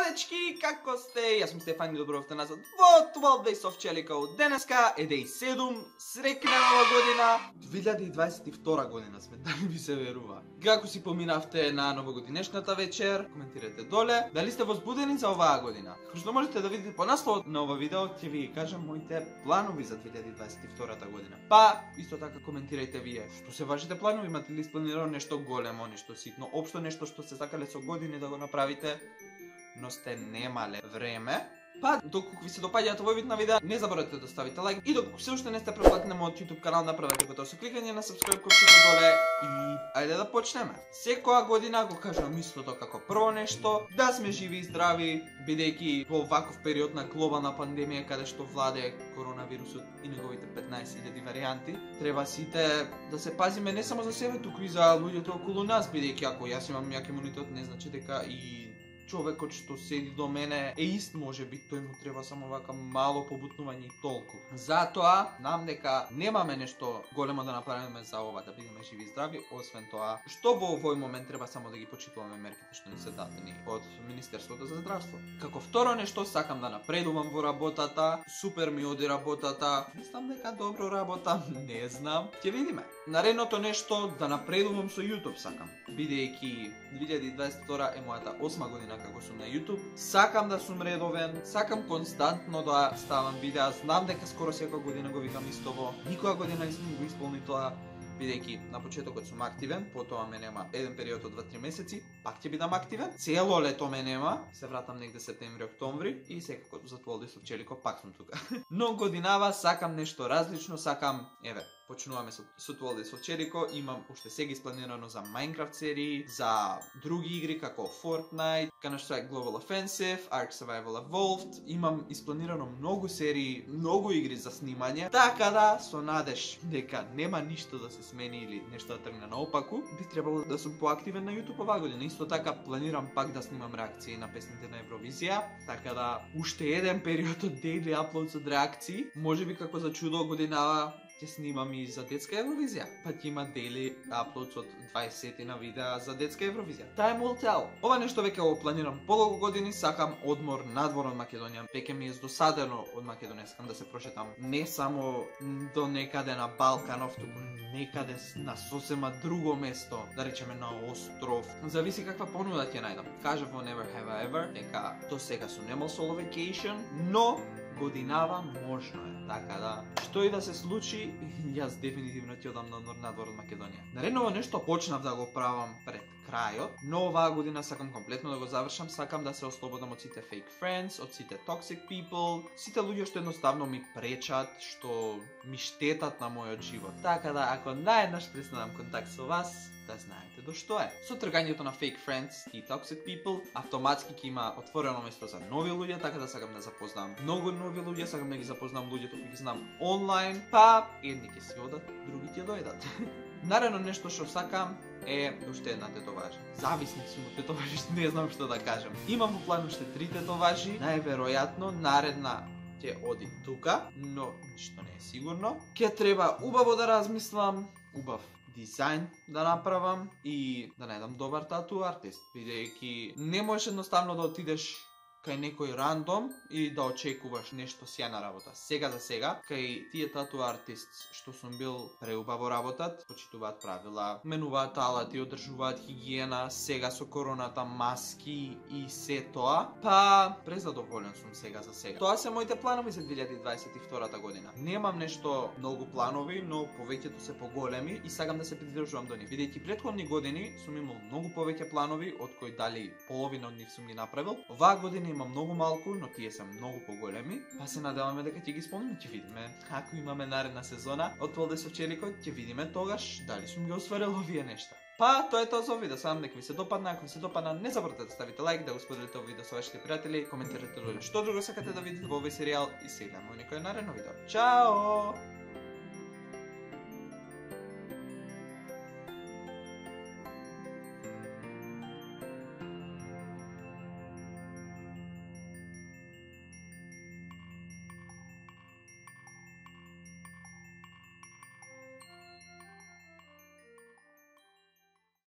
дечки, како сте? Јас сум Стефан и добро назад во 12 Days of Челикал. Денеска е Day 7, среќна нова година. 2022 година сме, да ми се верува. Како си поминавте на новогодинешната вечер? Коментирате доле. Дали сте возбудени за оваа година? Како што можете да видите по насловот на ова видео, ќе ви кажам моите планови за 2022 година. Па, исто така коментирајте вие. Што се вашите планови? Имате ли испланирано нешто големо, нешто ситно, општо нешто што се сакале со години да го направите, но сте немале време? Па, доколку ви се допаѓаат овој вид на видеа, не заборавете да ставите лайк и доколку се уште не сте претплатени на мојот YouTube канал, направете го тоа со кликање на subscribe копчето доле и ајде да почнеме. Секоја година го кажам истото како прво нешто, да сме живи и здрави, бидејќи во ваков период на глобална пандемија каде што владее коронавирусот и неговите 15.000 варијанти, треба сите да се пазиме не само за себе, туку и за луѓето околу нас, бидејќи ако јас имам јак имунитет, не значи дека и човекот што седи до мене е ист, може би тој му треба само вака мало побутнување и толку. Затоа, знам дека немаме нешто големо да направиме за ова, да бидеме живи и здрави, освен тоа, што во овој момент треба само да ги почитуваме мерките што ни се дадени од Министерството за здравство. Како второ нешто, сакам да напредувам во работата, супер ми оди работата, мислам дека добро работам, не знам, ќе видиме. Наредното нешто, да напредувам со YouTube сакам, бидејќи 2022 е мојата 8 година како сум на YouTube. Сакам да сум редовен, сакам константно да ставам видеа, знам дека скоро секоја година го викам истово. Никоја година не сум го исполни тоа, бидејќи на почетокот сум активен, потоа ме нема еден период од 2-3 месеци, пак ќе бидам активен. Цело лето ме нема, се вратам негде септември-октомври и секако за 12 Days of Челико пак сум тука. Но годинава сакам нешто различно, сакам, еве, почнуваме со 12 Days of Челико, имам уште сега испланирано за Minecraft серии, за други игри како Fortnite, Counter-Strike Global Offensive, Ark Survival Evolved, имам испланирано многу серии, многу игри за снимање, така да со надеж дека нема ништо да се смени или нешто да тргне наопаку, би требало да сум поактивен на YouTube оваа година. Исто така планирам пак да снимам реакции на песните на Евровизија, така да уште еден период од daily uploads од реакции, можеби како за чудо годинава ќе снимам и за детска Евровизија. Па ќе има daily uploads од 20 на видеа за детска Евровизија. Time will tell. Ова нешто веќе го планирам подолго години, сакам одмор надвор од Македонија. Веќе ми е здосадено од Македонија, сакам да се прошетам не само до некаде на Балканов, туку некаде на сосема друго место, да речеме на остров. Зависи каква понуда ќе најдам. Кажав во Never Have I Ever дека до сега сум немал solo vacation, но годинава можно е. Така да, што и да се случи, јас дефинитивно ќе одам на одмор надвор од Македонија. Наредно нешто почнав да го правам пред крајот, но оваа година сакам комплетно да го завршам, сакам да се ослободам од сите fake friends, од сите toxic people, сите луѓе што едноставно ми пречат, што ми штетат на мојот живот. Така да, ако наеднаш престанам контакт со вас, да знаете до што е. Со тргањето на fake friends и toxic people, автоматски ќе има отворено место за нови луѓе, така да сакам да запознам многу нови луѓе, сакам да ги запознам луѓето кои ги знам онлайн, па едни ќе си одат, други ќе дојдат. Наредно нешто што сакам е уште една тетоважа. Зависник сум од тетоважи, не знам што да кажам. Имам во план уште 3 тетоважи, најверојатно наредна ќе оди тука, но ништо не е сигурно. Ќе треба убаво да размислам, убав дизајн да направам и да најдам добар тату артист, бидејќи не можеш едноставно да отидеш кај некој рандом и да очекуваш нешто сјајна работа. Сега за сега, кај тие тату артист што сум бил преубаво работат, почитуваат правила, менуваат алати, одржуваат хигиена, сега со короната маски и се тоа, па презадоволен сум сега за сега. Тоа се моите планови за 2022 година. Немам нешто многу планови, но повеќето се поголеми и сакам да се придржувам до нив. Бидејќи претходни години сум имал многу повеќе планови, од кои дали половина од нив сум ги направил. Оваа година има многу малку, но тие се многу поголеми, па се надеваме дека ќе ги исполниме, ќе видиме. Ако имаме наредна сезона од 12 Days of Челико, ќе видиме тогаш дали сум ги остварил овие нешта. Па, тоа е тоа за видео, сам дека ви се допадна, ако ви се допадна, не заборавате да ставите лайк, да го споделите овој видео со вашите пријатели, коментирате доле што друго сакате да видите во овој серијал и се гледаме во некој наредно видео. Чао!